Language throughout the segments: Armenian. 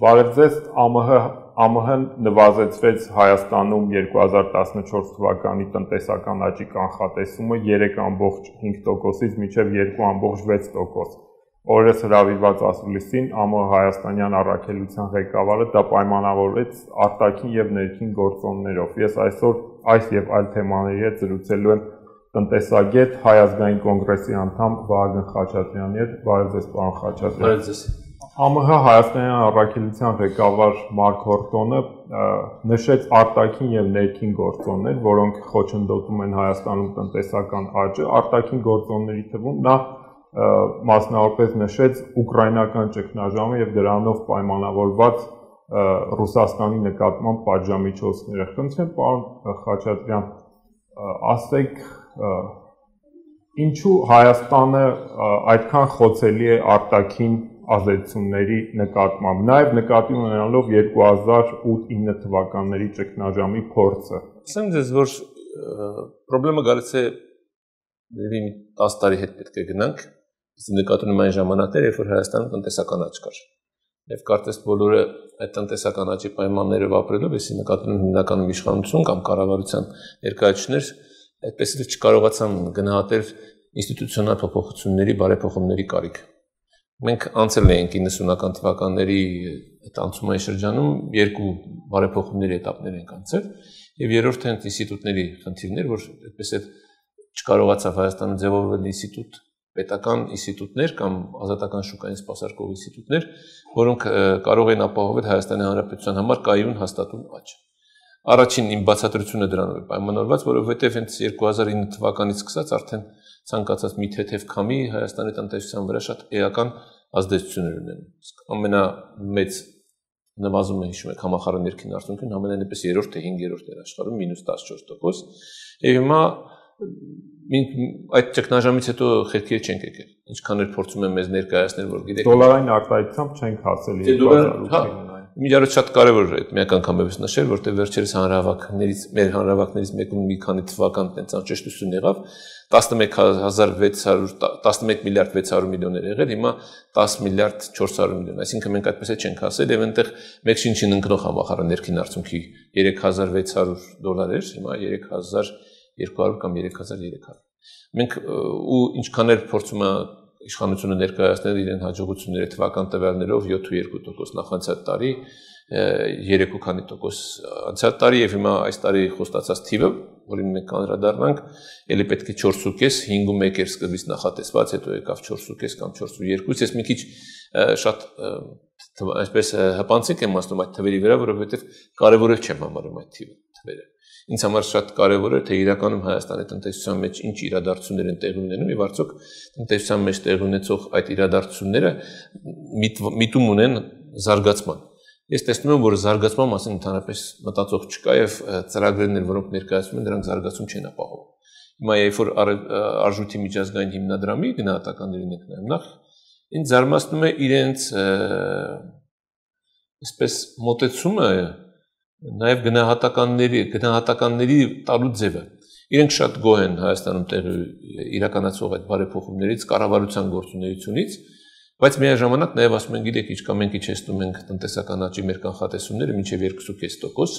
Բարև ձեզ, ԱՄՆ-ն նվազեցրեց Հայաստանում 2014 թվականի տնտեսական աճի կանխատեսումը 3.5%-ից մինչև 2.6%։ Օրերս հրավիրված ասուլիսին ԱՄՆ հայաստանյան առաքելության ղեկավարը դա պայմանավորեց արտաքին եւ ներքին գործոններով։ Ես այսօր այս եւ այլ թեմաների հետ զրուցելու եմ տնտեսագետ Հայ ազգային կոնգրեսի անդամ Վահագն Խաչատրյանի հետ։ Բարև ձեզ, պարոն Խաչատրյան։ Բարև ձեզ։ ԱՄՆ հայաստանյան առաքելության ղեկավար Մարկ Հորտոնը նշեց արտաքին եւ ներքին գործոններ, որոնք խոչընդոտում են Հայաստանում տնտեսական աճը։ Արտաքին գործոնների թվում նա մասնավորապես նշեց ուկրաինական ճգնաժամը եւ դրանով պայմանավորված Ռուսաստանի նկատմամբ պատժամիջոցները։ Խնդրեմ, պարոն Խաչատրյան, ասեք, ինչու Հայաստանը այդքան խոցելի է արտաքին ազդեցությունների նկատմամբ, նաև նկատի ունենալով 2008-9 թվականների ճգնաժամի փորձը։ Ասեմ ձեզ, որ խնդրեմը գալիս է 10 տարի հետ պետք է գնանք, իսկ նկատի ունեմ այն ժամանակներ, երբ որ Հայաստանում տնտեսական աճ կար։ Եվ կարծես բոլորը այդ տնտեսական աճի պայմաններով ապրելով, если նկատի ունեն հիմնականում իշխանություն կամ կառավարության ներկայացուցիչներ, այդպես էլ չկարողացան գնահատել ինստիտուցիոնալ փոփոխությունների, բարեփոխումների կարիք։ Մենք անցել ենք 90-ական թվականների այդ անցումային շրջանում երկու բարեփոխումների էտապներ ենք անցել եւ երրորդը այն ինստիտուտների խնդիրներ, որ այդպես էլ չկարողացավ Հայաստանը ձևավորել ինստիտուտ, պետական ինստիտուտներ կամ ազատական շուկային սպասարկող ինստիտուտներ, որոնք կարող են ապահովել Հայաստանի Հանրապետության համար կայուն հաստատուն աճ։ Առաջին իմ բացատրությունը դրանով է պայմանավորված, որովհետև հենց 2009 թվականից սկսած արդեն ցանկացած մի թեթև քամի Հայաստանի տնտեսության վրա շատ էական ազդեցություններ ունեն։ Ամենամեծ նվազումը հիշում եք համախառն ներքին արդյունքին ամենայնպես 3-րդ թե 5-րդ էր աշխարհում -14%։ Եվ հիմա այդ ճգնաժամից հետո խելքեր չենք եկել։ Ինչքան էլ փորձում եմ մեզ ներկայացնել, որ գիտեք, դոլարային արտահայտությամբ չենք հասել 2008-ին։ Միջարոց շատ կարևոր է մեկ անգամից նշել, որտեղ վերջերս մեր հանրահավաքներից մեկում մի քանի թվական տենց անճշտություն եղավ, 11 միլիարդ 600 միլիոն էր եղել, հիմա 10 միլիարդ 400 միլիոն, այսինքն մենք այդպես չենք հասել եւ այնտեղ մեկ շինչին ընկնող համախառն ներքին արդյունքի 3600 դոլար էր, հիմա 3200 կամ 3300։ Մենք ու ինչքան էլ փորձում ենք իշխանությունը ներկայացնել իրեն հաջողությունները թվական տվյալներով 7.2% նախանցյալ տարի, 3.2% անցյալ տարի եւ հիմա այս տարի խոստացած թիվը, որին մենք անդրադառնանք, ելի պետք է 4.5, 5.1 էր սկզբից նախատեսված, հետո եկավ 4.5 կամ 4.2, ես մի քիչ շատ այսպես հպանցիկ եմ ասում այդ թվերի վրա, որովհետեւ կարեւոր չեմ համարում այդ թվերը։ Ինձ համար շատ կարևոր է, թե իրականում Հայաստանի տնտեսության մեջ ինչ իրադարձություններ են տեղի ունենում եւ արդյոք տնտեսության մեջ տեղի ունեցող այդ իրադարձությունները միտում ունեն զարգացման։ Ես տեսնում եմ, որ զարգացման մասին ընդհանրապես մտածող չկա եւ ծրագրերն, որոնք ներկայացվում են, դրանք զարգացում չեն ապահովում։ Հիմա երբ որ արժույթի միջազգային հիմնադրամի գնահատականներին ենք նայում, նախ ինձ զարմացնում է իրենց այսպես մոտեցումը նաև գնահատականների տալու ձևը։ Իրենք շատ գոհ են Հայաստանում տեղի իրականացող այդ բարեփոխումներից, կառավարության գործունեությունից, բայց միաժամանակ նաև ասում են, գիտեք, ինչքան մենք իջեցնում ենք տնտեսական աճի մեր կանխատեսումները մինչև 2.5%,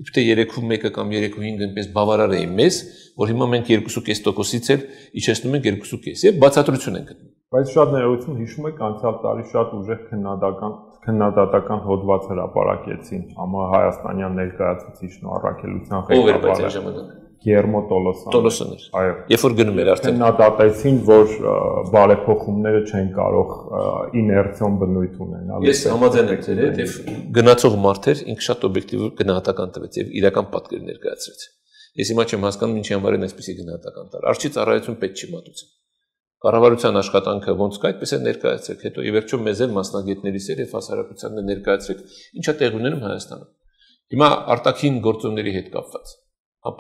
իբր թե 3.1 կամ 3.5 այնպես բավարար է մեզ, որ հիմա մենք 2.5%-ից էլ իջեցնում ենք 2.5 եւ բացատրություն ենք գտնում։ Բայց շատ ներողություն, հիշում եք անցյալ տարի շատ ուժեղ քննադատական հոդված հրապարակեցին ԱՄՆ հայաստանյան ներկայացուցիչն ու առաքելության ղեկավարը Գերմո Տոլոսյանը։ Այո։ Երբ որ գնում էր արդեն քննադատեցին, որ բարեփոխումները չեն կարող իներցիոն բնույթ ունենալ։ Ես համաձայն եմ ձեր հետ եւ գնացող մարդեր ինքը շատ օբյեկտիվ գնահատական տվեց եւ իրական պատկեր ներկայացրեց։ Ես հիմա չեմ հասկանում ինչի համար են այսպեսի գնահատական տալ։ Արժի ծառայություն պետք չի մատուցել։ Կառավարության աշխատանքը ոնց կա, այդպես է ներկայացրեք, հետո ի վերջո մեզ էլ մասնագետների սեր եւ հասարակությանն ներկայացրեք, ինչա տեղ ունենում Հայաստանում։ Հիմա արտաքին գործոնների հետ կապված։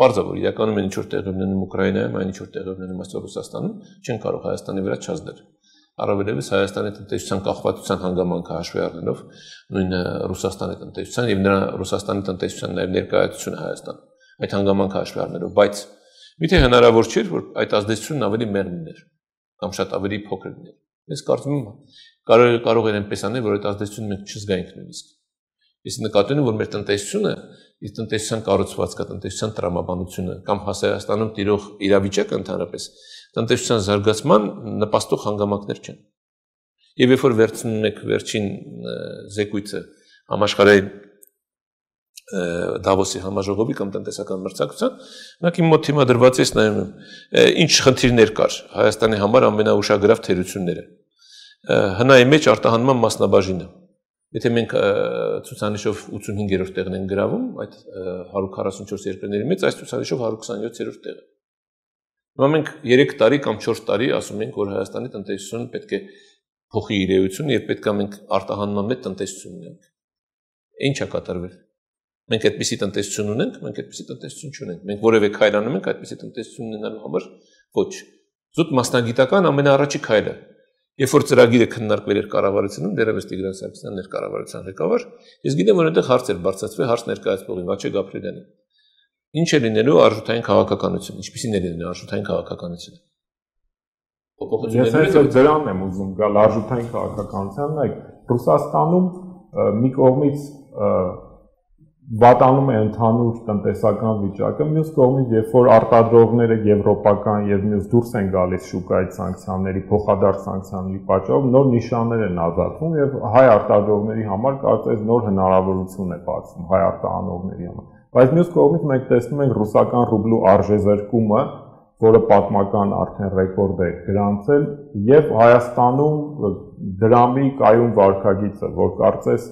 Պարզ է, որ իրականում են ինչ-որ տեղ ունենում Ուկրաինայում, այն ինչ-որ տեղ ունենում այսօր Ռուսաստանում, չեն կարող Հայաստանի վրա չազդել։ Առավելևս Հայաստանի տնտեսության կախվածության հանգամանքը հաշվի առնելով նույն Ռուսաստանի տնտեսության եւ նրա Ռուսաստանի տնտեսության նաեւ ներկայացությունը Հայաստանում։ Այդ հանգամանքը հաշվի առնելով, բայց միթե հնարավոր չէր, որ այդ ազդեցությունն ավելի մեղմ լիներ կամ շատ ավելի փոքր լիներ։ Ես կարծում եմ կարող են այնպես անել, որ այդ ազդեցությունը մենք չզգայինք նույնիսկ։ Իսկ նկատի ունեմ, որ մեր տնտեսությունը, իր տնտեսության կառուցվածքը, տնտեսության տրամաբանությունը կամ Հայաստանում տիրող իրավիճակը ընդհանրապես տնտեսության զարգացման նպաստող հանգամանքներ չեն։ Եվ երբ որ վերցնում եք վերջին զեկույցը համաշխարհային Դավոսի համաժողովի կամ տնտեսական մրցակցության, մենակ իմ մոտ հիմա դրված է նայում եմ, ինչ խնդիրներ կար Հայաստանի համար ամենաուշագրավ թերությունները։ Հնայի մեջ արտահանման մասնաբաժինը։ Եթե մենք ցուցանիշով 85-րդ տեղն ենք գրավում, այդ 144 երկրների մեջ այս ցուցանիշով 127-րդ տեղը։ Հիմա մենք 3 տարի կամ 4 տարի ասում ենք, որ Հայաստանի տնտեսությունը պետք է փոխի իր էությունը եւ պետք է մենք արտահանման մեջ տնտեսություն ունենք։ Ինչ է կատարվել։ Մենք այդպիսի տնտեսություն ունենք, մենք այդպիսի տնտեսություն չունենք։ Մենք որևէ քայլ անում ենք այդպիսի տնտեսություն ունենալու համար, ոչ։ Զուտ մասնագիտական ամենաառաջի քայլը։ Երբ որ ծրագիրը քննարկվել էր կառավարությունում, դեռևս Տիգրան Սարգսյանն էր կառավարության ղեկավար, ես գիտեմ, որ այնտեղ հարց էր բարձրացվել հարց ներկայացնողին Վաչե Գաբրելյանին։ Ինչ է լինելու արժութային քաղաքականություն, ինչպիսին է լինելու արժութային քաղաքականությունը։ Ես այսօր դրան եմ ուզում գալ արժութային քաղաքականության, նայեք, Ռուսաստանում մի կողմից վատանում է ընդհանուր տնտեսական վիճակը, մյուս կողմից, երբ որ արտադրողները եվրոպական եւ մյուս դուրս են գալիս շուկայից սանկցիաների, փոխադարձ սանկցիաների պատճառով նոր նիշաներ են ազատվում եւ հայ արտադրողների համար կարծես նոր հնարավորություն է բացվում հայ արտահանողների համար։ Բայց մյուս կողմից մենք տեսնում ենք ռուսական ռուբլու արժեզրկումը, որը պատմական արդեն ռեկորդ է գրանցել, եւ Հայաստանում դրամի կայուն վարկագիծը, որ կարծես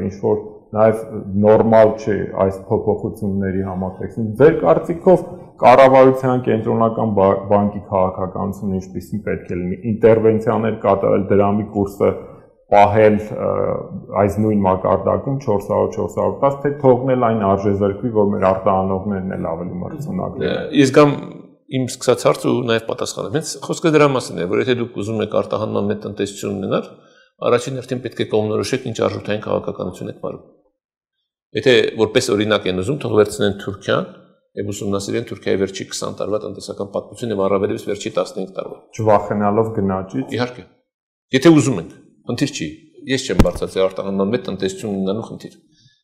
ինչ որ նաև նորմալ չէ այս փոփոխությունների համատեքստում։ Ձեր կարծիքով կառավարության կենտրոնական բանկի քաղաքականությունը ինչպիսին պետք է լինի, ինտերվենցիաներ կատարել դրամի կուրսը պահել այս նույն մակարդակում 400-410, թե թողնել այն արժեզրկվի, որ մեր արտահանողներն էլ ավելի մրցունակ լինեն։ Ես գամ իմ սկսած հարցը ու նաև պատասխանը։ Հենց խոսքը դրա մասին է, որ եթե դուք ուզում եք արտահանման մեջ տնտեսություն ունենալ, առաջին հերթին պետք է կողմնորոշեք ինչ արժութային քաղաքականություն եք վարում։ Եթե որպես օրինակ են ուզում, թող վերցնեն Թուրքիան եւ ուսումնասիրեն Թուրքիայի վերջի 20 տարվա տնտեսական պատմությունը եւ առավելևս վերջի 15 տարվա։ Չվախենալով գնաճից։ Իհարկե։ Եթե ուզում ենք, խնդիր չի։ Ես չեմ բարձրացել արտահանման մեջ տնտեսություն ունենալու խնդիր։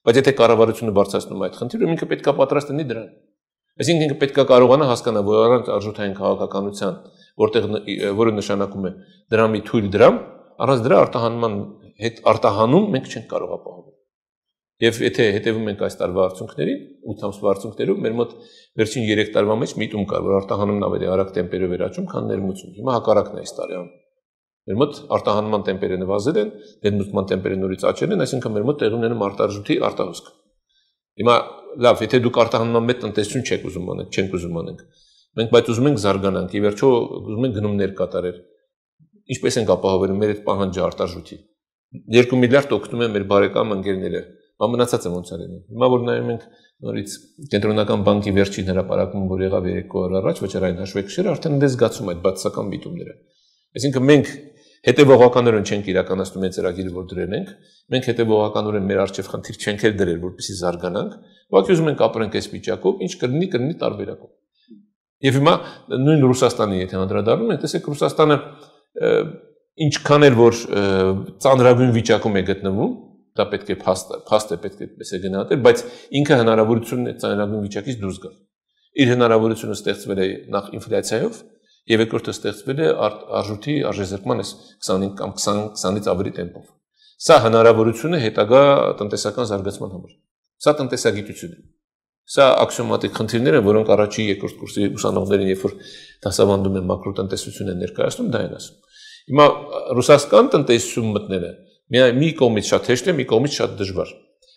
Բայց եթե կառավարությունը բարձրացնում այդ խնդիրը, ինքը պետք է պատրաստ լինի դրան։ Այսինքն ինքը պետք է կարողանա հասկանալ, որ առանց արժութային քաղաքականության, որը նշանակում է դրամի թույլ դրամ, առանց դրա արտահանման հետ արտահանում մենք չենք կարող ապահովել։ Եվ եթե հետևում ենք այս տարվա արդյունքներին, 8 ամսվա արդյունքներում, մեր մոտ վերջին 3 տարվա մեջ միտում կար, որ արտահանումն ավելի արագ տեմպերով էր աճում, քան ներմուծումը։ Հիմա հակառակն է այս տարի անում։ Մեր մոտ արտահանման տեմպերը նվազել են, ներմուծման տեմպերը նորից աճել են, այսինքն մեր մոտ տեղի ունենում արտարժույթի արտահոսք։ Հիմա լավ, եթե դուք արտահանման մեջ տնտեսություն չեք ուզում անեք, չենք ուզում անենք։ Մենք բայց ուզում ենք զարգանանք, ի վերջո ուզում ենք գնումներ կատարել։ Ինչպես ենք ապահովելու մեր այդ պահանջը արտարժույթի։ 2 միլիարդ օգնում են մեր բարեկամ ընկերները։ Մնացած է ոնց է լինում։ Հիմա որ նայում ենք նորից կենտրոնական բանկի վերջին հրապարակումը, որ եղավ 3 օր առաջ, վճարային հաշվեկշիռը արդեն դες զգացում այդ բացասական միտումները։ Այսինքն մենք հետևողականորեն չենք իրականացնում այդ ծրագիրը, որ դրել ենք, մենք հետևողականորեն մեր արժեվ խնդիր չենք էլ դրել, որպեսզի զարգանանք, ուղղակի ուզում ենք ապրենք այս վիճակով, ինչ կլինի տարբերակով։ Եվ հիմա նույն Ռուսաստանի եթե անդրադառնում ենք, տեսեք Ռուսաստանը ինչքան էլ որ ծանրագույն վիճակում է գտնվում, դա պետք է փաստ է պետք է այդպես է գնահատել, բայց ինքը հնարավորություն ունի ծանրագույն վիճակից դուրս գալ։ Իր հնարավորությունը ստեղծվել է նախ ինֆլյացիայով, եւ երկրորդը ստեղծվել է արժույթի արժեզրկման 25 կամ 20-ից ավելի տեմպով։ Սա հնարավորություն է հետագա տնտեսական զարգացման համար։ Սա տնտեսագիտություն է։ Սա աքսիոմատիկ խնդիրներ են, որոնք առաջի երկրորդ կուրսի ուսանողներին, երբ որ դասավանդում են մակրոտնտեսություն են ներկայացնում, դա են ասում։ Հիմա ռուսական տնտեսություն մտնելը մի կողմից շատ հեշտ է, մի կողմից շատ դժվար։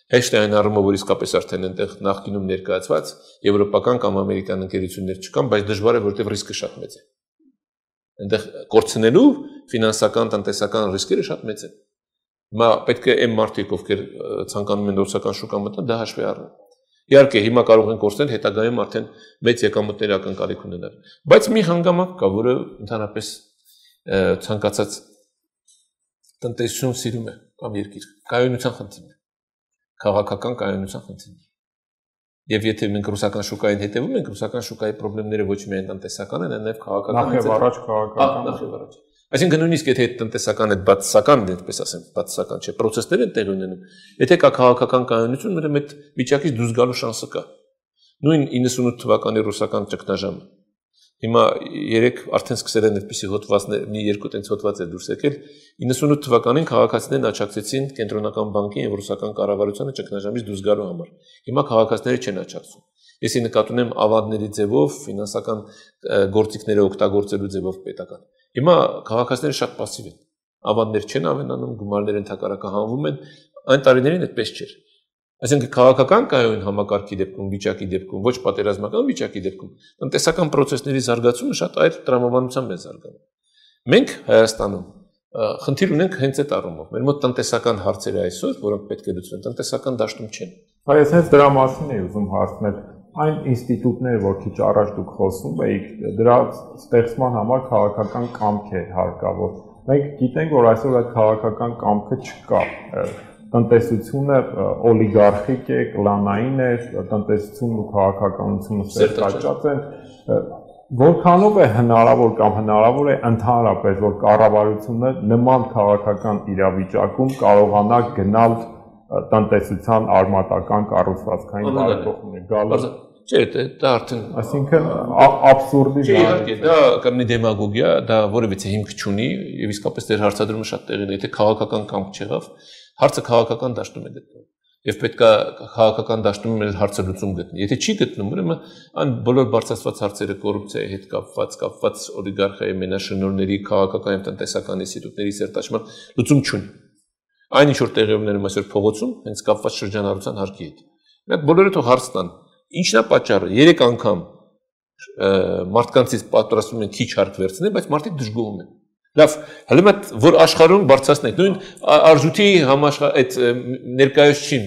Հեշտ է այն առումով, որ իսկապես արդեն այնտեղ նախկինում ներկայացված եվրոպական կամ ամերիկյան ընկերություններ չկան, բայց դժվար է, որտեղ ռիսկը շատ մեծ է։ Այնտեղ կորցնելու ֆինանսական, տնտեսական ռիսկերը շատ մեծ են։ Հիմա պետք է այն մարդիկ, ովքեր ցանկանում են ռուսական շուկա մտնել, դա հաշվի առնել։ Իհարկե, հիմա կարող են կորցնել, հետագայում արդեն մեծ եկամուտներ ակնկալիք ունենալ։ Բայց մի հանգամանք կա, որը ընդհանրապես ցանկացած տնտեսություն սիրում է կամ երկիր, կայունության խնդիրն է, քաղաքական կայունության խնդիրն է։ Եվ եթե մենք ռուսական շուկային հետևում ենք, ռուսական շուկայի խնդիրները ոչ միայն տնտեսական են, այլ նաև քաղաքական։ Նախ եւ առաջ քաղաքական։ Նախ եւ առաջ։ Այսինքն նույնիսկ եթե տնտեսական այդ բացասական, այդպես ասեմ, բացասական չէ, process-ներ են տեղի ունենում, եթե կա քաղաքական կայունություն, ուրեմն այդ վիճակից դուրս գալու շանսը կա։ Նույն 98 թվականի ռուսական ճգնաժամը։ Հիմա երեք արդեն սկսել են այդպիսի հոդվածներ, մի երկու տենց հոդված է դուրս եկել։ 98 թվականին քաղաքացիներն աջակցեցին կենտրոնական բանկին եւ ռուսական կառավարությանը ճգնաժամից դուրս գալու համար։ Հիմա քաղաքացիները չեն աջակցում։ Եսի նկատի ունեմ ավանդների ձևով, ֆինանսական գործիքները օգտագործելու ձևով պետական։ Հիմա քաղաքացիները շատ пассив են։ Ավանդներ չեն ավելանում, գումարները ընդհակառակահանվում են, այն տարիներին այդպես չէր։ Այսինքն քաղաքական կայուն համակարգի դեպքում, վիճակի դեպքում, ոչ պատերազմական վիճակի դեպքում, տնտեսական process-ների զարգացումը շատ այլ տրամաբանությամբ է զարգանում։ Մենք Հայաստանում խնդիր ունենք հենց այդ առումով։ Մեր մոտ տնտեսական հարցերը այսօր, որոնք պետք է լուծվեն, տնտեսական դաշտում չեն։ Բայց հենց դրա մասին էի ուզում հարցնել։ Այն ինստիտուտները, որ քիչ առաջ դուք խոսում էիք, դրա ստեղծման համար քաղաքական կամք է հարկավոր։ Մենք գիտենք, որ այսօր այդ քաղաքական կամքը չկա։ Տնտեսությունը օլիգարխիկ է, կլանային է, տնտեսությունն ու քաղաքականությունը սերտաճած են։ Որքանով է հնարավոր կամ հնարավոր է ընդհանրապես, որ կառավարությունը նման քաղաքական իրավիճակում կարողանա գնալ տնտեսության արմատական կառուցվածքային բարեփոխումներ գալու։ Չէ, դա արդեն, այսինքն աբսուրդի իհարկե, դա կլինի դեմագոգիա, դա որևիցե հիմք չունի եւ իսկապես դեր հարցադրումը շատ տեղին է, եթե քաղաքական կամք չեղավ, հարցը քաղաքական դաշտում է գտնվում եւ պետք է քաղաքական դաշտում մեր հարցը լուծում գտնի։ Եթե չի գտնում, ուրեմն այն բոլոր բարձրացված հարցերը կոռուպցիայի հետ կապված օլիգարխիայի մենաշնորհների քաղաքական եւ տնտեսական ինստիտուտների սերտաճման լուծում չունի։ Այն ինչ որ տեղի ունենում այսօր փողոցում, հենց կապված շրջանառության հարկի հետ։ Մենք բոլորը թող հարց տան, ինչն է պատճառը։ 3 անգամ մարդկանցից պատրաստվում են քիչ հարկ վերցնել, բայց մարդիկ դժգոհում են։ Լավ, հələ մտ որ աշխարհում բարձրացնենք, նույն արժույթի այդ ներկայացուցիչ,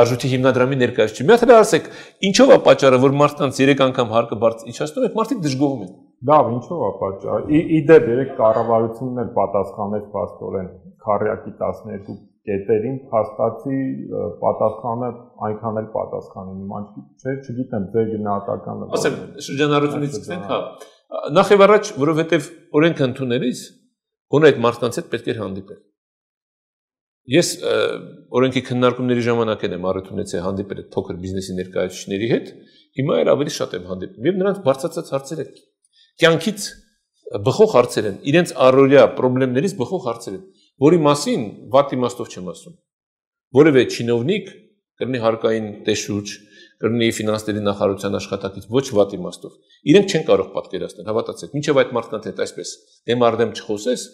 արժույթի հիմնադրամի ներկայացուցիչ։ Մի հատ էլ ասեք, ինչով է պատճառը, որ մարդկանց 3 անգամ հարկը իջացնում եք, մարդիկ դժգոհում են։ Լավ, ինչով է պատճառը։ Իդեպ երեք կառավարությունն էլ պատասխանեց փաստորեն քարյակի 12 կետերին, փաստացի պատասխանը այնքան էլ պատասխանի նման չէ, չգիտեմ, ձեր գնահատականը։ Ասեմ, շրջանառությունից սկսենք, հա։ Նախ եւ առաջ, որովհետեւ օրենքը ընդունելիս գոնե այդ մարդկանց հետ պետք է հանդիպել։ Ես օրենքի քննարկումների ժամանակ եմ առիթ ունեցել հանդիպել այդ փոքր բիզնեսի ներկայացուցիչների հետ, հիմա էլ ավելի շատ եմ հանդիպում։ Եվ նրանց բարձրացած հարցեր են, կյանքից բխող հարցեր են, իրենց առօրյա խնդիրներից բխող հարցեր են, որի մասին վատ իմաստով չեմ ասում։ Որևէ չինովնիկ կլինի հարկային տեսուչ, կլինի ֆինանսների նախարարության աշխատակից, ոչ վատ իմաստով։ Իրենք չեն կարող պատկերացնել, հավատացեք, մինչև այդ մարդկանց հետ այսպես դեմ առ դեմ չխոսես,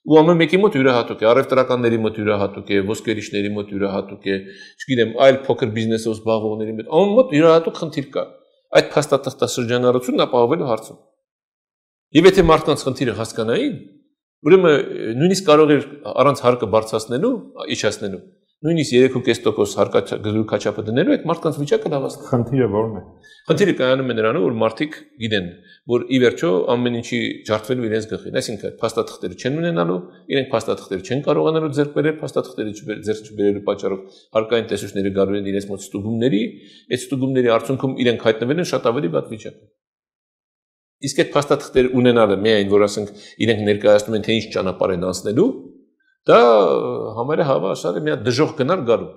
ու ամեն մեկի մոտ յուրահատուկ է, առևտրականների մոտ յուրահատուկ է, ոսկերիչների մոտ յուրահատուկ է, չգիտեմ, այլ փոքր բիզնեսով զբաղվողների մոտ ամեն մոտ յուրահատուկ խնդիր կա։ Այդ փաստաթղթաշրջանառությունն ապահովելու հարցում։ Եվ եթե մարդկանց խնդիրը հասկանային, ուրեմն նույնիսկ կարող էր առանց հարկը բարձրացնելու, իջացնելու, նույնիսկ 3.5% հարկագծու քաչապը դնելու այդ մարդկանց վիճակը լավացնել։ Խնդիրը ո՞րն է։ Խնդիրը կայանում է նրանում, որ մարդիկ գիտեն, որ ի վերջո ամեն ինչի ջարդվելու իրենց գլխին, այսինքն փաստաթղթերը չեն ունենալու, իրենք փաստաթղթերը չեն կարողանալու ձեռք բերել, փաստաթղթերը ձեռք չբերելու պատճառով հարկային տեսուչները գալու են իրենց մոտ ստուգումների, այդ ստուգումների արդյունքում իրենք հայտնվել են շատ ավելի վատ վիճակում։ Իսկ այդ փաստաթղթերը ունենալը միայն, որ ասենք իրենք ներկայացնում են, թե ինչ ճանապարհ են անցնելու, դա համարյա հավասար է մի հատ դժոխք գնալ գալու։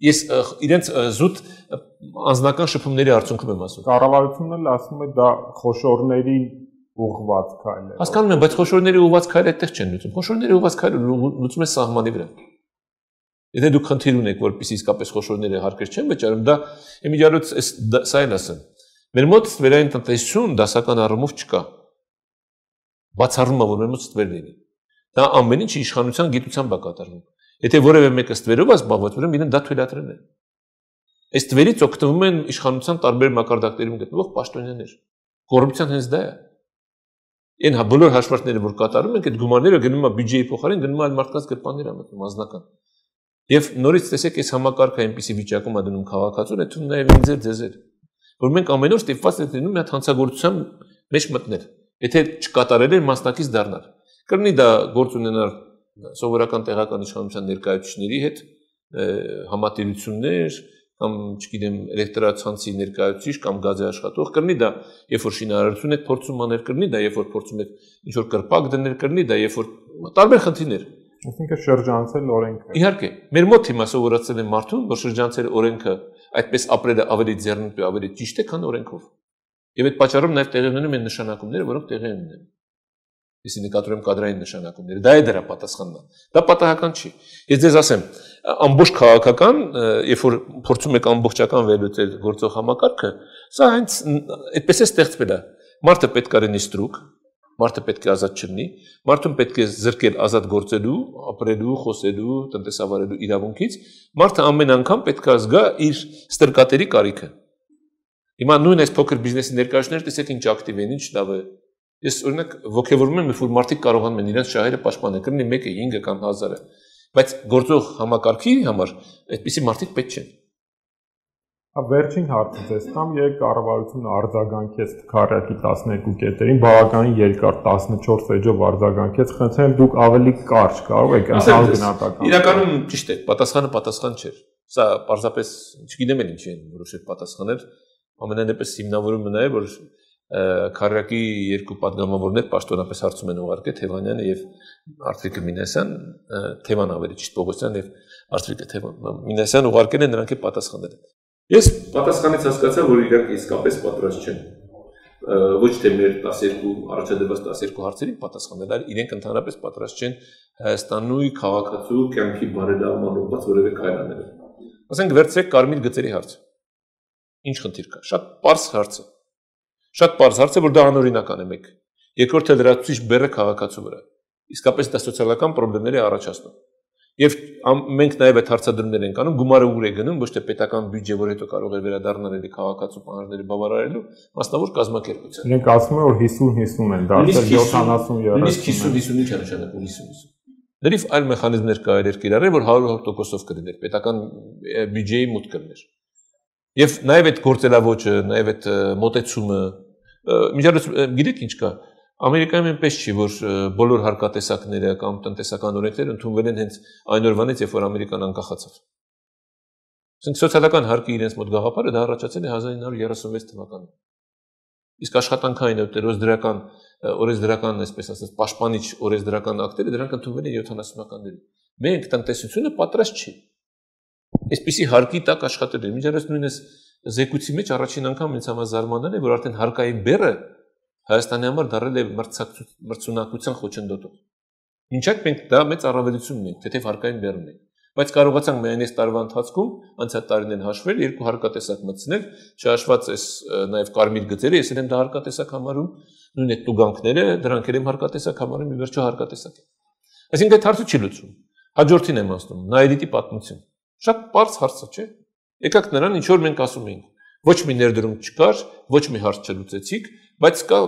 Ես իրենց զուտ անձնական շփումների արդյունքում եմ ասում։ Կառավարությունն էլ ասում է դա խոշորների ուղղված քայլ է։ Հասկանում եմ, բայց խոշորների ուղղված քայլը այդտեղ չեն լուծում։ Խոշորների ուղղված քայլը լուծում է սահմանի վրա։ Եթե դուք խնդիր ունեք, որպեսզի իսկապես խոշորները հարկեր չեն վճարում, դա իմիջիալոց սա էլ ասեմ։ Մեր մոտ ստվերային տնտեսություն դասական առումով չկա։ Բացառում է, որ մեր մոտ ստվեր լինի։ Դա ամեն ինչ իշխանության գիտությամբ է կատարվում։ Եթե որևէ մեկը ստվերով է զբաղված, ուրեմն իրեն դա թույլատրել է։ Այս ստվերից օգտվում են իշխանության տարբեր մակարդակներում գտնվող պաշտոնյաներ։ Կոռուպցիան հենց դա է։ Այն բոլոր հաշվարկները, որ կատարում են, այդ գումարները գնում է բյուջեի փոխարեն, գնում է այլ մարդկանց գրպաններ մտնում անձնական։ Եվ նորից տեսեք, այս համակարգը այնպիսի վիճակում է դնում քաղաքացուն, այդ թվում նաև ինձ ձեզ որ մենք ամեն օր ստիպված ենք լինում մի հատ հանցագործության մեջ մտնել։ Եթե չկատարել են մասնակից դառնալ։ Կլինի դա գործ ունենալ սովորական տեղական իշխանության ներկայացուցիչների հետ, համատիրություններ, կամ չգիտեմ էլեկտրացանցի ներկայացուցիչ կամ գազի աշխատող կրնի դա, երբ որ շինարարություն եք փորձում անել կրնի դա, երբ որ փորձում եք ինչ որ կրպակ դնել կրնի դա, երբ որ տարբեր խնդիրներ։ Այսինքն շրջանցել օրենքը։ Իհարկե, մեր մոտ հիմա սովորացել են մարդուն, որ շրջանցել օրենքը այդպես ապրելը ավելի ձեռնտու, ավելի ճիշտ է, քան օրենքով։ Եվ այդ պատճառով նաև տեղի ունենում են նշանակումները, որոնք տեղի են ունենում։ Իսկ նկատում եմ կադրային նշանակումները։ Դա է դրա պատասխանն։ Դա պատահական չի։ Ես ձեզ ասեմ, ամբողջ քաղաքական, երբ որ փորձում եք ամբողջական վերլուծել գործող համակարգը, սա հենց այդպես է ստեղծվել։ Մարդը պետք է լինի ստրուկ, մարդը պետք է ազատ չլինի, մարդուն պետք է զրկել ազատ գործելու, ապրելու, խոսելու, տնտեսավարելու իրավունքից, մարդը ամեն անգամ պետք է զգա իր ստրկատերի կարիքը։ Հիմա նույն այս փոքր բիզնեսի ներկայացուցիչները տեսեք ինչ ակտիվ են, ինչ լավ է։ Ես օրինակ ողջևորում եմ, որ մարդիկ կարողանում են իրենց շահերը պաշտպանել, կրնի 1-ը, 5-ը կամ 1000-ը, բայց գործող համակարգի համար այդպիսի մարդիկ պետք չեն։ Վերջին հարցը ձեզ տամ, երբ կառավարությունը արձագանքեց քարյակի 12 կետերին, բավականին երկար 14 էջով արձագանքեց, խնդրեմ դուք ավելի կարճ կարող եք անցալ գնահատական։ Իրականում ճիշտ է, պատասխանը պատասխան չէր։ Սա պարզապես չգիտեմ էլ ինչի են որոշել պատասխանել, ամենայնպես հիմնավորումը նա է, որ քարյակի երկու падգամավորներ պաշտոնապես հարցում են ուղարկել Թևանյանը եւ Արծվիկը Մինասյան, Թևան ավելի ճիշտ Պողոսյան եւ Արծվիկը Մինասյան ուղարկել են, նրանք է պատասխանել են։ Ես պատասխանից հասկացա, որ իրանք իսկապես պատրաստ չեն ոչ թե մեր 12 առաջադրված 12 հարցերին պատասխանել, այլ իրենք ընդհանրապես պատրաստ չեն Հայաստանի քաղաքացու կյանքի բարելավման ուղղված որևէ քայլ անել։ Ասենք վերցրեք կարմիր գծերի հարցը։ Ինչ խնդիր կա։ Շատ պարզ հարց է։ Շատ պարզ հարց է, որ դա անօրինական է մեկ։ Երկրորդը լրացուցիչ բեռը քաղաքացու վրա։ Իսկապես դա սոցիալական խնդիրներ է առաջացնում։ Եվ մենք նաև այդ հարցադրումներ ենք անում, գումարը ուր է գնում, ոչ թե պետական բյուջե, որ հետո կարող է վերադառնալ էլի քաղաքացու պահանջները բավարարելու, մասնավոր կազմակերպության։ Իրենք ասում են, որ 50-50 են, դարձել 70-30։ Նույնիսկ 50-50 ինչ է նշանակում 50-50։ Դրիվ այլ մեխանիզմներ կարելի է կիրառել, որ 100%-ով կլիներ, պետական բյուջեի մուտք կլիներ։ Եվ նաև այդ գործելավոճը, նաև այդ մոտեցումը, միջազգային գիտեք ինչ կա։ Ամերիկայում այնպես չի, որ բոլոր հարկատեսակները կամ տնտեսական օրենքները ընդունվել են հենց այն օրվանից, երբ որ Ամերիկան անկախացավ։ Ասենք սոցիալական հարկի իրենց մոտ գաղափարը դա առաջացել է 1936 թվականին։ Իսկ աշխատանքային օրենսդրական, այսպես ասած, պաշտպանիչ օրենսդրական ակտերը դրանք ընդունվել են 70-ականներին։ Մենք տնտեսությունը պատրաստ չի։ Այսպիսի հարկի տակ աշխատել են։ Միջազգային նույնպես զեկույցի մեջ առաջին անգամ ինձ համար զարմանալ է, որ արդեն հարկային բեռը Հայաստանի համար դառել է մրցունակության խոչընդոտող։ Մինչ այդ մենք դա մեծ առավելություն ունենք, թեթև հարկային բեռ ունենք, բայց կարողացանք միայն այս տարվա ընթացքում անցյալ տարիներին հաշվել երկու հարկատեսակ մտցնել, չհաշված այս նաև կարմիր գծերը, ես եմ դա հարկատեսակ համարում, նույն այդ տուգանքները, դրանք էլ եմ հարկատեսակ համարում, ի վերջո հարկատեսակ է։ Այսինքն այդ հարցը չի լուծվում։ Հաջորդին եմ ասում, Նայիրիտի պատմություն։ Շատ պարզ հարց է, չէ՞։ Եկաք նրան ինչ որ մենք ասում էինք։ Ոչ մի ներդրում չկար, ոչ մի հարց չլուծեցիք, բայց կա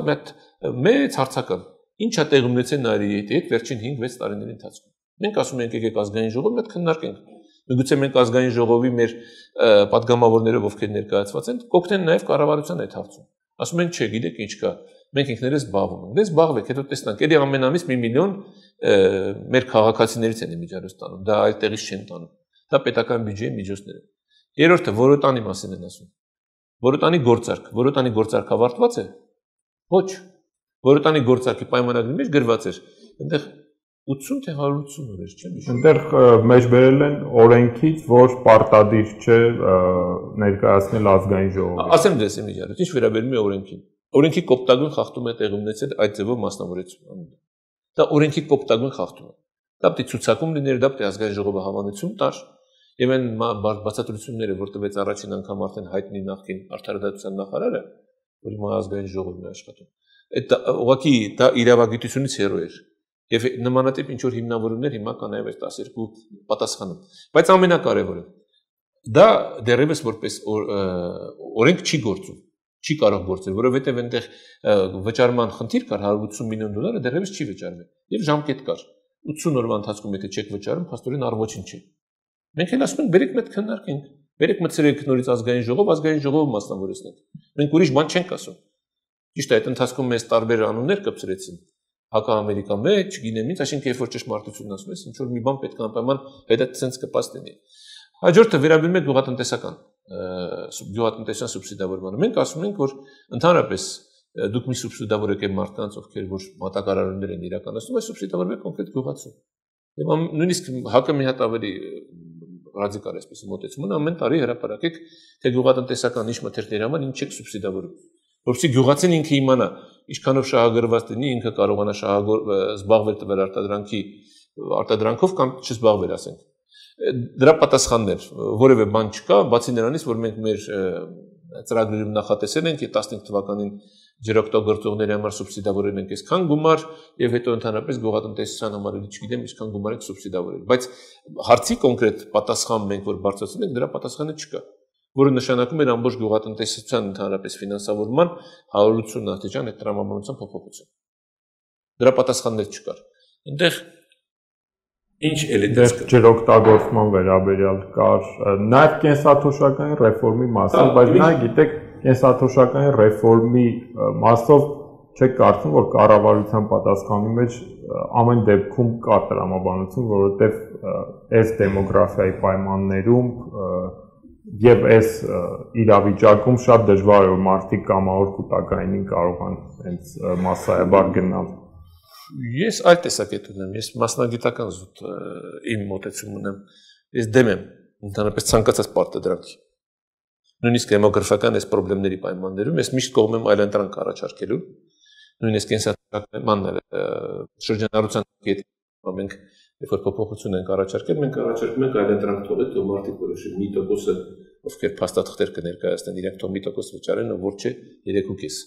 մեծ հարցական։ Ինչ է տեղի ունեցել Նայիրիտի հետ վերջին 5-6 տարիների ընթացքում։ Մենք ասում ենք եկեք ազգային ժողովը այդ քննարկենք։ Միգուցե մենք ազգային ժողովի մեր падգամավորներով ովքեր ներկայացված են, կօգնեն նաև կառավարության այդ հարցում։ Ասում են, չէ, գիտեք ինչ կա, մենք ինքներս զբաղվում ենք։ Դե զբաղվեք, հետո տեսնանք, էլի ամեն ամիս 1 միլիոն մեր քաղաքացիներից են միջազգ տանում, դա այլ տեղից չեն տանում։ Դա պետական բյուջեի միջոցներ են։ Երրորդը որոտանի մասին են ասում։ Որոտանի գործարք ավարտված է։ Ոչ։ Որոտանի գործարքի պայմանագրի մեջ գրված էր, այնտեղ 80 թե 180 օրեր, չէ՞։ Այնտեղ մեջ բերել են օրենքից, որ պարտադիր չէ ներկայացնել ազգային ժողովին։ Ասեմ դες եմ իջարել, ինչ վերաբերում է օրենքին։ Օրենքի կոպտագույն խախտում է տեղի ունեցել այդ ձևով մասնավորեցում։ Դա օրենքի կոպտագույն խախտում է։ Դա պետք է ցուցակում լիներ, դա պետք է ազգային ժողովը հավանություն տար։ Եվ այն բացատրությունները, որ տվեց առաջին անգամ արդեն հայտնի նախկին արդարադատության նախարարը, որ հիմա ազգային ժողովն է աշխատում, այդ ուղղակի դա իրավագիտությունից հեռու էր։ Եվ նմանատիպ ինչ որ հիմնավորումներ հիմա կա նաև այս 12 պատասխանում։ Բայց ամենակարևորը դա դեռևս որպես օրենք չի գործում, չի կարող գործել, որովհետև այնտեղ վճարման խնդիր կար, 180 միլիոն դոլարը դեռևս չի վճարվել։ Եվ ժամկետ կար։ 80 օրվա ընթացքում եթե չեք վճարում, փաստորեն առողջին չի։ Մենք էլ ասում ենք, բերեք մեկ քննարկենք, բերեք մտցրեք նորից ազգային ժողովը մասնավորեցնենք։ Մենք ուրիշ բան չենք ասում։ Ճիշտ է, այդ ընթացքում մեզ տարբեր անուններ կպցրեցին։ Հակաամերիկա մեջ, չգիտեմ ինչ, այսինքն երբ որ ճշմարտությունն ասում ես, ինչ որ մի բան պետք է անպայման հետը ցենց կպաս լինի։ Հաջորդը վերաբերում է գյուղատնտեսական գյուղատնտեսության սուբսիդավորմանը։ Մենք ասում ենք, որ ընդհանրապես դուք մի սուբսիդավորեք այն մարդկանց, ովքեր որ մատակարարումներ են իրականացնում, այս սուբսիդավորեք կոնկրետ գյուղացու։ Եվ նույնիսկ հակը մի հատ ավելի ռադիկալ էսպես մոտեցում ունի, ամեն տարի հրապարակեք, թե գյուղատնտեսական ինչ մթերքների համար ինչ եք սուբսիդավորում։ Որովհետեւ գյուղացին ինքը իմանա, ինչքանով շահագրված լինի, ինքը կարողանա զբաղվել տվել արտադրանքով կամ չզբաղվել, ասենք։ Դրա պատասխաններ որևէ բան չկա, բացի նրանից, որ մենք մեր ծրագրերում նախատեսել ենք 15 թվականին ջրօգտագործողների համար սուբսիդավորել ենք այսքան գումար եւ հետո ընդհանրապես գյուղատնտեսության համար էլ չգիտեմ ինչքան գումար ենք սուբսիդավորել, բայց հարցի կոնկրետ պատասխան մենք որ բարձրացնում ենք, դրա պատասխանը չկա, որը նշանակում է ամբողջ գյուղատնտեսության ընդհանրապես ֆինանսավորման 180 աստիճան այդ տրամաբանության փոփոխություն։ Դրա պատասխաններ չկար։ Այնտեղ ինչ էլիտար ջրօգտագործման վերաբերյալ կար, նաև կենսաթոշակային ռեֆորմի մասով, բայց նա գիտեք կենսաթոշակային ռեֆորմի մասով չեք կարծում, որ կառավարության պատասխանի մեջ ամեն դեպքում կա տրամաբանություն, որովհետև այս դեմոգրաֆիայի պայմաններում եւ այս իրավիճակում շատ դժվար է որ մարդիկ կամավոր կൂട്ടակայինին կարողան հենց մասսայաբար գնալ։ Ես այլ տեսակետ ունեմ, ես մասնագիտական զուտ իմ մոտեցում ունեմ, ես դեմ եմ ընդհանրապես ցանկացած պարտադրանքի։ Նույնիսկ դեմոգրաֆիական այս խնդիրների պայմաններում ես միշտ կողմ եմ այլընտրանք առաջարկելու, նույնիսկ կենսաթոշակման շրջանառության կետի մենք երբ որ փոփոխություն ենք առաջարկել, մենք առաջարկում ենք այլընտրանք թողել, թող մարդիկ որոշեն մի տոկոսը, ովքեր փաստաթղթեր կներկայացնեն, իրենք թող մի տոկոս վճարեն, որ չէ 3.5,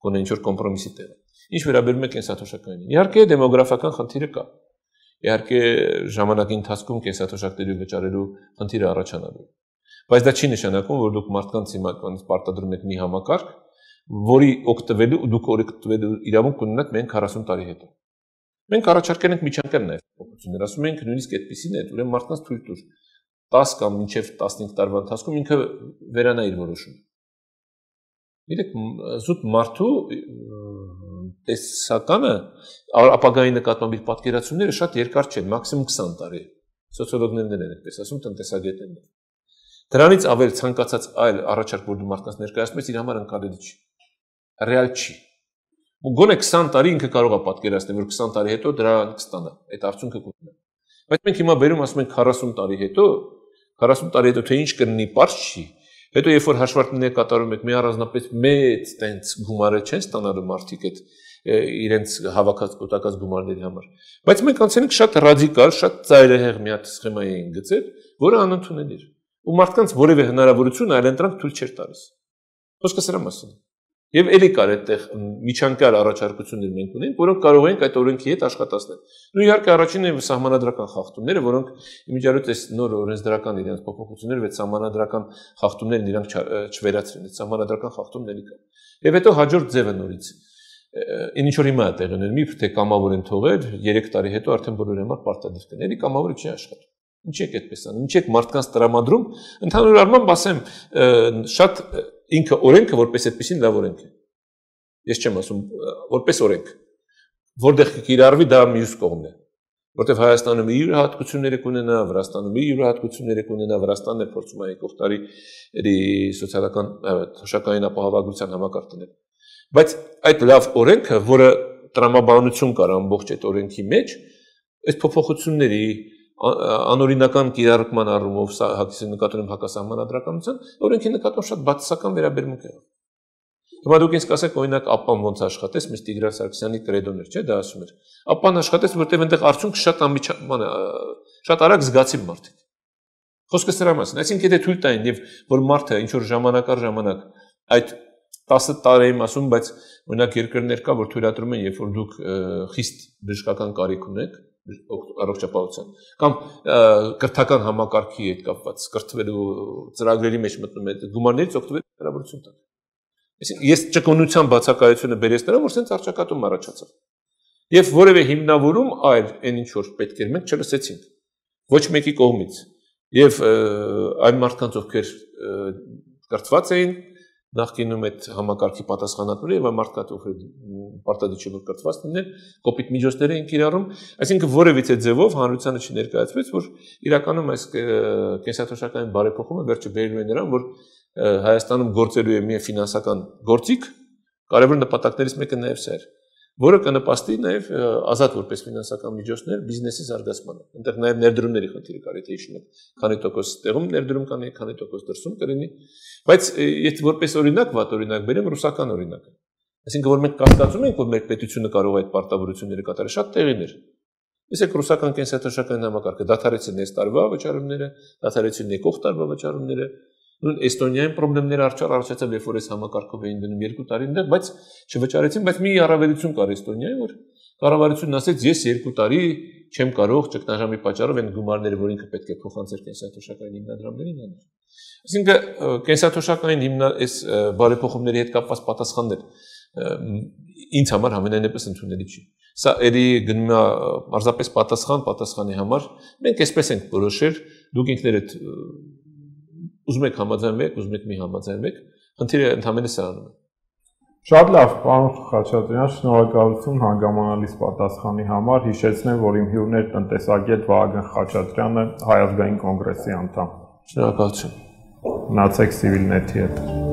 գոնե ինչ որ կոմպրոմիսի տեղ։ Ինչ վերաբերում է կենսաթոշակային։ Իհարկե դեմոգրաֆիական խնդիրը կա։ Իհարկե ժամանակի ընթացքում կենսաթոշակների վճարելու խնդիրը առաջանալու է։ Բայց դա չի նշանակում, որ դուք մարդկանց հիմնականից պարտադրում եք մի համակարգ, որի օգտվելու դուք օգտվելու իրավունք ունենաք միայն 40 տարի հետո։ Մենք առաջարկել ենք միջանկյալ նաև փոփոխություններ, ասում ենք նույնիսկ այդպեսին է, ուրեմն մարդկանց թույլ տուր 10 կամ մինչև 15 տարվա ընթացքում ինքը վերանա իր որոշումը։ Իրեք զուտ մարդու տեսականը ապագայի նկատմամբ իր պատկերացումները շատ երկար չեն, մաքսիմում 20 տարի։ Սոցիոլոգներն են այդպես ասում, տնտեսագետներն։ Դրանից ավել ցանկացած այլ առաջարկ, որ դու մարդկանց ներկայացնում ես, իր համար ընկալելի չի։ Ռեալ չի։ Գոնե 20 տարի ինքը կարող է պատկերացնել, որ 20 տարի հետո դրանք կստանա, այդ արդյունքը կունենա։ Բայց մենք հիմա վերում ասում ենք 40 տարի հետո թե ինչ կլինի, պարզ չի։ Հետո երբ որ հաշվարկներ կատարում եք, մի առանձնապես մեծ տենց գումարը չեն ստանալու մարդիկ այդ իրենց հավաքած կուտակած գումարների համար։ Բայց մենք անցել ենք շատ ռադիկալ, շատ ծայրահեղ մի հատ սխեմայի են գծել, որը անընդունելի էր։ Ու մարդկանց որևէ հնարավորություն այլընտրանք թույլ չէր տալիս։ Խոսքը սրա մասին է։ Եվ էլի կար այդտեղ միջանկյալ առաջարկություններ մենք ունենք, որոնք կարող ենք այդ օրենքի հետ աշխատացնել։ Ու իհարկե առաջինը սահմանադրական խախտումները, որոնք իմիջիայլոց այս նոր օրենսդրական իրենց փոփոխությունները վեց սահմանադրական խախտումներն իրանք չվերացրին, այդ սահմանադրական խախտումն էլի կա։ Եվ հետո հաջորդ ձևը նորից ինչ որ հիմա է տեղի ունենում, մի թե կամավոր են թողել, 3 տարի հետո արդեն բոլորի համար պարտադիր կան։ Էլի կամավորը չի աշխատում։ Ինչ եք այդպես անում, ինչ եք մարդկանց տրամադրում, ընդհանուր առմամբ ասեմ, շատ ինքը օրենքը որպես այդպեսին լավ օրենք է։ Ես չեմ ասում որպես օրենք, որտեղ կիրառվի դա մյուս կողմն է, որտեղ Հայաստանում իր յուրահատկությունները կունենա, Վրաստանում իր յուրահատկությունները կունենա, Վրաստանն է փորձում է եկող տարի սոցիալական թոշակային ապահովագրության համակարգ դնել։ Բայց այդ լավ օրենքը, որը տրամաբանություն կար ամբողջ այդ օրենքի մեջ, այս փոփոխությունների անօրինական կիրառման առումով նկատում հակասահմանադրականության օրենքի նկատմամբ շատ բացասական վերաբերմունք է։ Հիմա դուք ինձ կասեք, օրինակ ԱՊՊԱ-ն ոնց աշխատեց, միշտ Տիգրան Սարգսյանի կրեդոն էր, չէ՞, դա ասում էր։ ԱՊՊԱ-ն աշխատեց, որտեղ այնտեղ արդյունքը շատ արագ զգացին մարդիկ։ Խոսքը սրա մասին, այսինքն եթե թույլ տային եւ որ մարդը ինչ որ ժամանակ առ ժամանակ այդ 10 տարի եմ ասում, բայց օրինակ երկրներ կա, որ թույլատրում են, երբ որ դուք խիստ բժշկական կարիք ունեք առողջապահության կամ կրթական համակարգի հետ կապված կրթվելու ծրագրերի մեջ մտնում եք գումարներից օգտվել հնարավորություն տալ։ Այսինքն ես ճկունության բացակայությունը բերես նրան, որ սենց արճակատում առաջացավ։ Եվ որևէ հիմնավորում այլ այն ինչ որ պետք էր մենք չլսեցինք ոչ մեկի կողմից։ Եվ այն մարդկանց ովքեր կրթված էին նախկինում այդ համակարգի պատասխանատուները եւ մարդկանց ովքեր պարտադիր չէ որ կրթված լինեն, կոպիտ միջոցներ են կիրառում, այսինքն որևիցե ձևով հանրությանը չներկայացվեց, որ իրականում այս կենսաթոշակային բարեփոխումը վերջը բերելու է նրան, որ Հայաստանում գործելու է մի ֆինանսական գործիք, կարևոր նպատակներից մեկը նաեւ սա էր, որը կնպաստի նաեւ ազատ որպես ֆինանսական միջոցներ բիզնեսի զարգացմանը։ Այնտեղ նաեւ ներդրումների խնդիրը կար, եթե հիշում եք, քանի տոկոս տեղում ներդրում կանի, քանի տոկոս դրսում կլինի, բայց եթե որպես օրինակ, վատ օրինակ բերեմ ռուսական օրինակը։ Այսինքն որ մենք կասկածում ենք, որ մեր պետությունը կարող է այդ պարտավորությունները կատարել, շատ տեղիներ։ Իսկ ռուսական կենսաթոշակային համակարգը դադարեցին այս տարվա վճարումները, դադարեցին եկող տարվա վճարումները, նույն Էստոնիայում խնդիրներ առաջացավ, երբ որ այս համակարգով էին դնում 2 տարի այնտեղ, բայց չվճարեցին, բայց մի առավելություն կար Էստոնիայում, որ կառավարությունն ասեց, ես 2 տարի չեմ կարող ճգնաժամի պատճառով այն գումարները, որ ինքը պետք է փոխանցեր կենսաթոշակային հիմնադրամներին անել։ Այսինքն կենսաթոշակային այս բարեփոխումների հետ կապված պատասխաններ ինձ համար ամենայնպես ընդունելի չի։ Սա երի գնում է պարզապես պատասխանի համար, մենք այսպես ենք որոշել, դուք ինքներդ ուզում եք համաձայնվեք, ուզում եք մի համաձայնվեք, խնդիրը ընդհանրապես սրանում է։ Շատ լավ, պարոն Խաչատրյան, շնորհակալություն հանգամանալից պատասխանի համար։ Հիշեցնեմ, որ իմ հյուրն էր տնտեսագետ Վահագն Խաչատրյանը, Հայ ազգային կոնգրեսի անդամ։ Շնորհակալություն։ Մնացեք Civilnet-ի հետ։